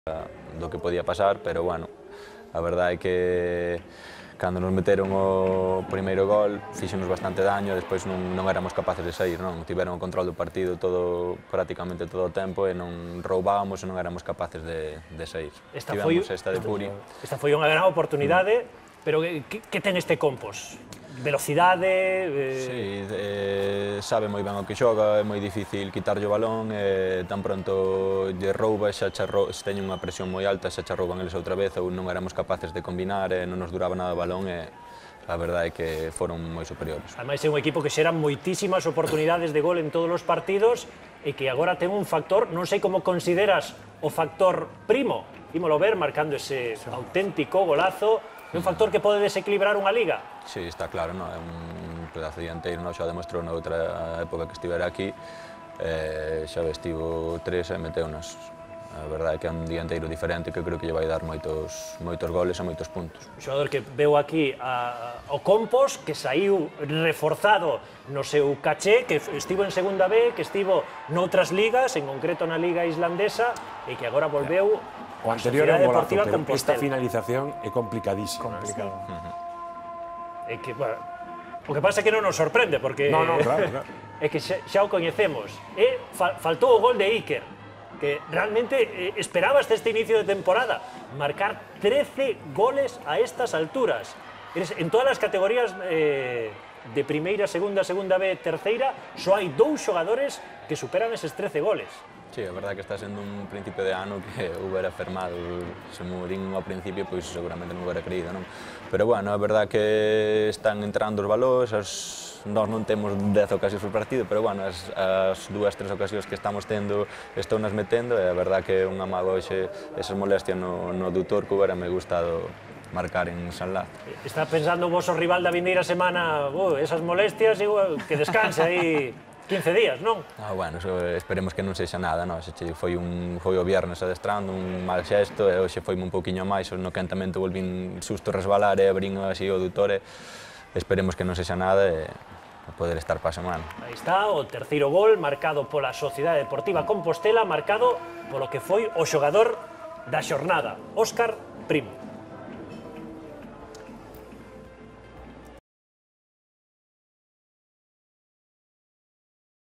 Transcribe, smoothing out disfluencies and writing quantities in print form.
do que podía pasar, pero bueno, a verdade é que cando nos meteron o primeiro gol fíxenos bastante daño, despois non éramos capaces de sair, non? Tiveron o control do partido prácticamente todo o tempo e non roubábamos e non éramos capaces de sair. Tivemos esta de Puri. Esta foi unha gran oportunidade, pero que ten este Compos? Velocidade? Sí, sabe moi ben o que xoga, é moi difícil quitarlle o balón, tan pronto lle rouba, xa teñen unha presión moi alta, xa rouban eles outra vez, ou non éramos capaces de combinar, non nos duraba nada o balón, e a verdade é que foron moi superiores. Ademais é un equipo que xera moitísimas oportunidades de gol en todos os partidos e que agora ten un factor, non sei como consideras o factor Primo, ímolo ver marcando ese auténtico golazo. É un factor que pode desequilibrar unha liga? Sí, está claro, é un pedazo dianteiro, xa demostrou na outra época que estivera aquí, xa estivo 3 e meteunos. A verdade é que é un dianteiro diferente que creo que lle vai dar moitos goles e moitos puntos. Un xogador que veu aquí ao Compos, que saiu reforzado no seu caché, que estivo en segunda B, que estivo noutras ligas, en concreto na liga islandesa, e que agora volveu o anterior é un golazo, pero esta finalización é complicadísima. É que, bueno, o que pasa é que non nos sorprende, porque claro. é que xa o coñecemos. E faltou o gol de Iker, que realmente esperabas este inicio de temporada, marcar 13 goles a estas alturas. En todas as categorías de primeira, segunda B, terceira, só hai 2 xogadores que superan eses 13 goles. Sí, a verdade é que está sendo un principio de ano que hubiera fermado, se mo din ao principio, pois seguramente non hubiera creído, non? Pero bueno, a verdade é que están entrando os valores, nós non temos 10 ocasións por partido, pero bueno, as 2-3 ocasións que estamos tendo estou nas metendo, e a verdade que é un amago hoxe esas molestias no adutor que hubiera me gustado marcar en San Laz. Está pensando o vosso rival da vindeira semana, esas molestias, que descanse aí 15 días, non? Bueno, esperemos que non sexa nada, non? Foi o viernes adestrando, un mal xesto, e hoxe foime un pouquiño máis, no quentamento volvín susto resbalar e abrín así o adutor, esperemos que non sexa nada e poder estar para a semana. Aí está o terceiro gol marcado pola Sociedade Deportiva Compostela, marcado polo que foi o xogador da xornada, Óscar Primo.